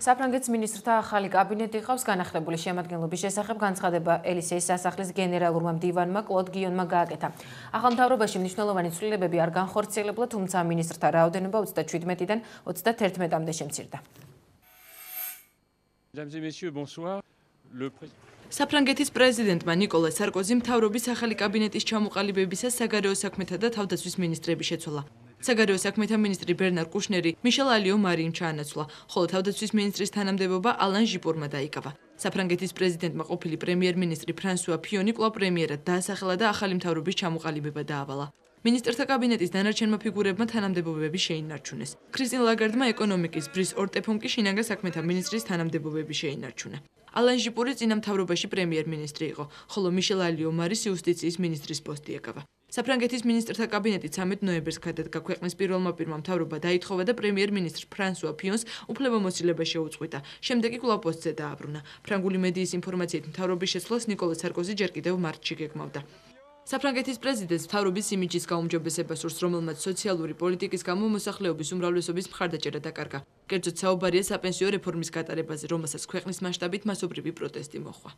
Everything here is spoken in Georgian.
საფრანგეთის მინისტრთა ახალი კაბინეტი ყავს განახლებული შემადგენლობის შესახებ განცხადება ელისეის სასახლის გენერალურმა მდივანმა კლოდ გიონმა გააკეთა. ახალ მთავრობაში მნიშვნელოვანი ცვლილებები არ განხორციელებულა, თუმცა მინისტრთა რაოდენობა 37-დან 31-მდე შემცირდა. საფრანგეთის პრეზიდენტმა ნიკოლას სარკოზიმ მთავრობის ახალი კაბინეტის ჩამოყალიბებისას საგარეო საქმეთა და თავდაცვის მინისტრები შეცვალა. საგარეო საქმეთა მინისტრი ბერნარ კუშნერი მიშელ ალიო მარიმ ჩაანაცვლა, ხოლო თავდაცვის მინისტრის თანამდებობა ალან ჟიპურმა დაიკავა. საფრანგეთის პრეზიდენტმა ყოფილი პრემიერ-მინისტრი ფრანსუა ფიონი კვლავ პრემიერად დაასახელა და ახალი მთავრობის ჩამოყალიბება დაავალა. მინისტრთა კაბინეტის დანარჩენმა ფიგურებმა თანამდებობები შეინარჩუნეს. ქრისტინ ლაგარდმა ეკონომიკის ბრის ორტეფონ კი შინაგან საქმეთა მინისტრის თანამდებობები შეინარჩუნა. ალან ჟიპური წინა მთავრობაში პრემიერ-მინისტრი იყო, ხოლო მიშელ ალიო მარის იუსტიციის მინისტრის პოსტი ეკავა. საფრანგეთის მინისტრთა კაბინეტი 13 ნოემბერს გადადგა. ქვეყნის პირველმა პირმა მთავრობა დაითხოვა და პრემიერ-მინისტრ ფრანსუა ფიონს უფლებამოსილება შეუწყვიტა. შემდეგ კი კვლავ პოსტზე დააბრუნა. ფრანგული მედიის ინფორმაციით მთავრობის შეცვლას ნიკოლა სარკოზი ჯერ კიდევ მარტში გეგმავდა. საფრანგეთის პრეზიდენტს მთავრობის იმიჯის გაუმჯობესება სურს, რომელმაც სოციალური პოლიტიკის გამო მოსახლეობის უმრავლესობის მხარდაჭერა დაკარგა. კერძოდ საუბარია საპენსიო რეფორმის გატარებაზე, რომელსაც ქვეყნის მასშტაბით მასობრივი პროტესტი მოჰყვა.